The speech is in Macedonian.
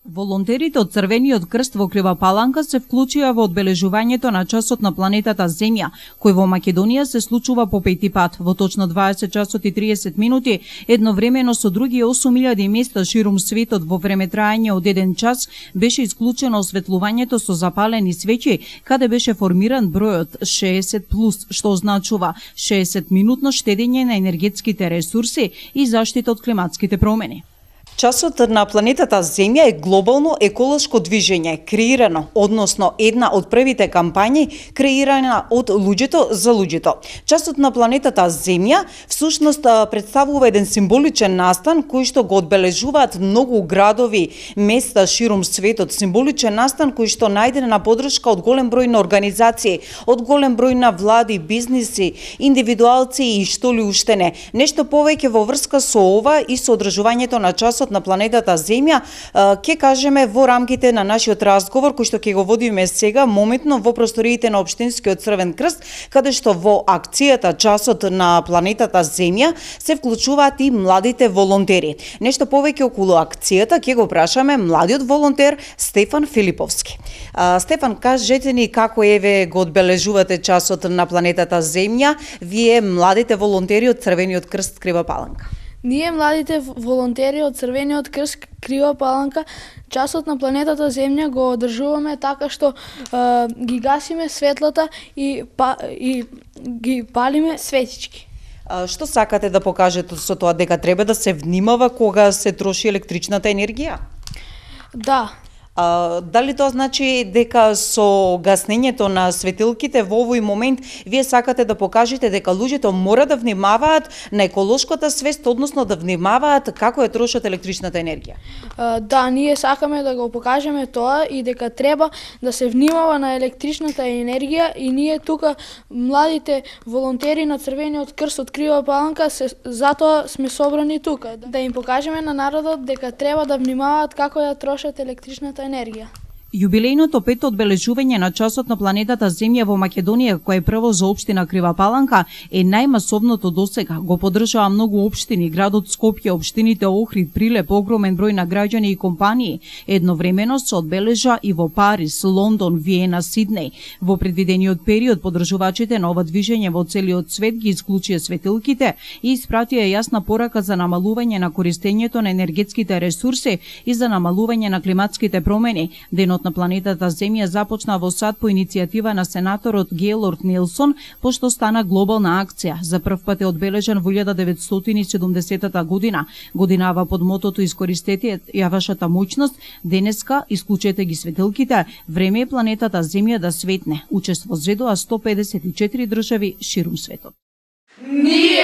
Волонтерите од Црвениот крст во Крива Паланка се вклучија во одбележувањето на часот на планетата Земја, кој во Македонија се случува по пети пат, во точно 20 часот и 30 минути, едновремено со други 8000 места ширум светот во време траење од 1 час беше исклучено осветлувањето со запалени свеќи, каде беше формиран бројот 60+, што означува 60 минутно штедење на енергетските ресурси и заштита од климатските промени. Часот на планетата Земја е глобално еколошко движење, креирано, односно една од првите кампањи креирана од луѓето за луѓето. Часот на планетата Земја всушност представува еден символичен настан кој што го одбележуваат многу градови, места ширум светот, символичен настан кој што најден на поддршка од голем број на организации, од голем број на влади, бизниси, индивидуалци и што ли уште не. Нешто повеќе во врска со ова и со одржувањето на часот на планетата Земја, ќе кажеме во рамките на нашиот разговор кој што ќе го водиме сега моментно во просториите на Општинскиот Црвен крст, каде што во акцијата часот на планетата Земја се вклучуваат и младите волонтери. Нешто повеќе околу акцијата ќе го прашаме младиот волонтер Стефан Филиповски. Стефан, кажете ни како еве го одбележувате часот на планетата Земја, вие младите волонтери од Црвениот крст Крива Паланка? Ние, младите волонтери од Црвениот крст Крива Паланка, часот на планетата Земја го одржуваме така што ги гасиме светлата и ги палиме светички. Што сакате да покажете со тоа, дека треба да се внимава кога се троши електричната енергија? Да. Дали тоа значи дека со гаснењето на светилките во овој момент вие сакате да покажете дека луѓето мора да внимаваат на еколошката свест, односно да внимаваат како ја трошат електричната енергија? Да, ние сакаме да го покажеме тоа и дека треба да се внимава на електричната енергија и ние тука младите волонтери на Црвениот крст од Крива Паланка затоа сме собрани тука, да им покажеме на народот дека треба да внимаваат како ја трошат електричната енергија. Јубилејното пето одбележување на часот на планетата Земја во Македонија, кој е прво за општина Крива Паланка, е најмасовното досега. Го поддржаа многу општини, градот Скопје, општините Охрид, Прилеп, огромен број на граѓани и компании. Едновремено се одбележа и во Париз, Лондон, Виена, Сиднеј. Во предвидениот период поддржувачите на ова движење во целиот свет ги исклучија светилките и испратија јасна порака за намалување на користењето на енергетските ресурси и за намалување на климатските промени. Денот на планетата Земја започна во САД по иницијатива на сенаторот Гејлорд Нелсон, пошто стана глобална акција. За прв пат е одбележан во 1970 година. Годинава под мотото "Искористете ја вашата моќност", денеска исклучете ги светилките, време е планетата Земја да светне. Учествуваат 154 држави ширум светот. Ние